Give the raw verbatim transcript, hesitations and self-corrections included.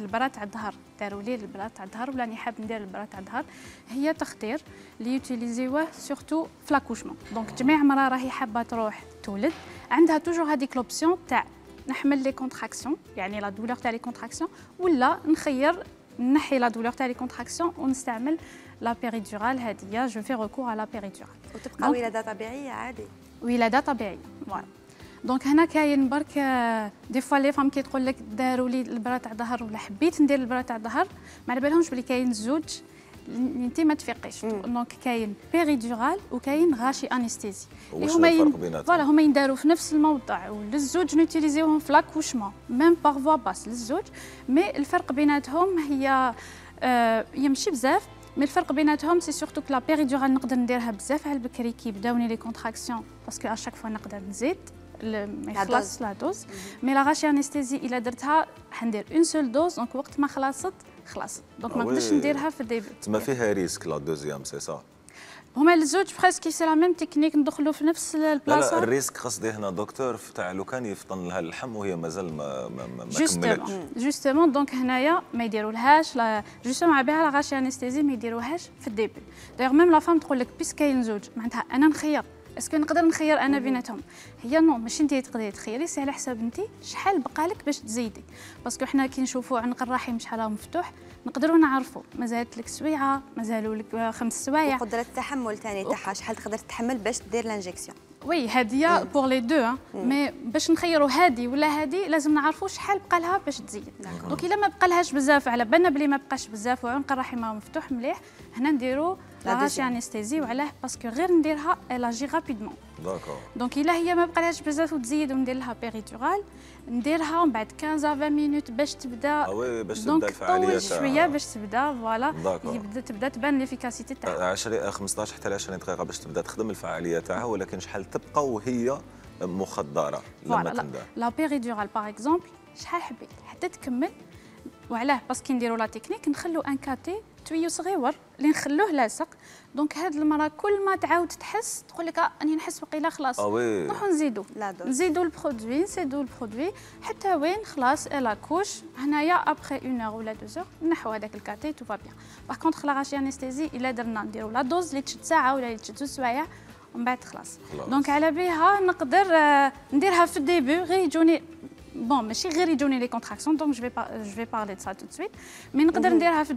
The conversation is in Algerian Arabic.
البرا تاع الظهر داروا لي البرا تاع الظهر ولا راني حاب ندير البرا تاع الظهر هي تخدير اللي يوتيليزيوه سورتو في لاكوشمون. دونك جميع مرة راهي حابه تروح تولد عندها توجور هذيك لوبسيون تاع نحمل لي كونتراكسيون يعني لا دولور تاع لي كونتراكسيون ولا نخير نحي لا دولور تاع لي كونتراكسيون ونستعمل لا بيريدورال هذه جو في ريكور على لا بيريدورال وتبقى ولاده طبيعيه عادي ولاده طبيعيه فوالا. دونك هنا كاين برك دي فوا لي فام كي تقول لك داروا لي البرا تاع الظهر ولا حبيت ندير البرا تاع الظهر ما على بالهمش بلي كاين زوج اللي انت ما تفيقيش. دونك كاين بيريدورال وكاين غاشي انستيزي اللي هما ين... فوالا هما ينداروا في نفس الموضع وللزوج نوتيليزيوهم في لاكوشمون ميم بار فوا باس للزوج. مي الفرق بيناتهم هي آه يمشي بزاف مي الفرق بيناتهم سي سورتو كو لا بيريدورال نقدر نديرها بزاف على البكري كي يبداوني لي كونتراكسيون باسكو اشاك فوا نقدر نزيد ما يخلص لا دوز. مي لا غاشي انستيزي الا درتها حندير اون سول دوز دونك وقت ما خلصت خلاص دونك ما نقدرش نديرها في الديبي. تما فيها ريسك لا دوزيام سي صا هما الزوج بريسك سي لا ميم تكنيك ندخلوا في نفس البلاصه. لا لا الريسك قصدي هنا دكتور تاع لو كان يفطن لها اللحم وهي مازال ما ما, ما كملتش جوستومون. دونك هنايا ما يديرولهاش لا جوستومون على بها لا غاشي انستيزي ما يديروهاش في الديبي. دايوغ ميم لا فام تقول لك بيس كاين زوج معناتها انا نخير اسكو نقدر نخير انا بيناتهم. هي نو ماشي انت تقدري تخيري سي على حساب انت شحال بقالك باش تزيدي باسكو حنا كي نشوفوا عنق الرحم شحال مفتوح نقدروا نعرفوا مازالت لك سويعه مازالوا لك خمس سوايع. وقدره التحمل ثاني تاعها شحال تقدر تتحمل باش دير لانجيكسيون. وي هذه بور لي دو مي باش نخيروا هذه ولا هذه لازم نعرفوا شحال بقى لها باش تزيد. دونك الا ما بقى لهاش بزاف على بالنا بلي ما بقاش بزاف وعنق الرحم مفتوح مليح هنا نديروا لا غاشي انستيزي وعلاه باسكو غير نديرها الاجي رابيدمون. داكور. دونك الا هي ما بقالهاش بزاف وتزيد وندير لها بيريدورال نديرها ومن بعد خمسطاش عشرين مينوت باش تبدا. اه وي باش تبدا الفعاليه تاعها. دونك شويه باش تبدا فوالا يبدا تبدا تبان ليفيكاسيتي تاعها. عشرين خمسطاش حتى عشرين دقيقه باش تبدا تخدم الفعاليه تاعها ولكن شحال تبقى وهي مخدره لما تندار. لا بيريدورال باغ اكزومبل شحال حبيت حتى تكمل وعلاه باسكو نديروا لا تكنيك نخلو ان كاتي تويو صغيور اللي نخلوه لاصق. دونك هاد المراه كل ما تعاود تحس تقول لك راني نحس بقيله خلاص اه نروحو نزيدو نزيدو البرودوي نزيدو البرودوي حتى وين خلاص الا كوش. هنايا ابخي اون اور ولا دو زور نحو هذاك الكاتي تو فا بيان. باغ كونطخ لا غاشي انستيزي الا درنا نديرو لا دوز اللي تشد ساعه ولا اللي تشد زوج سوايع ومن بعد خلاص. دونك على بها نقدر نديرها في الديبي غير يجوني بون ماشي غير يجوني لي كونتراكسيون دونك جو في جو في بارلي دو سا تو سويت مي نقدر نديرها في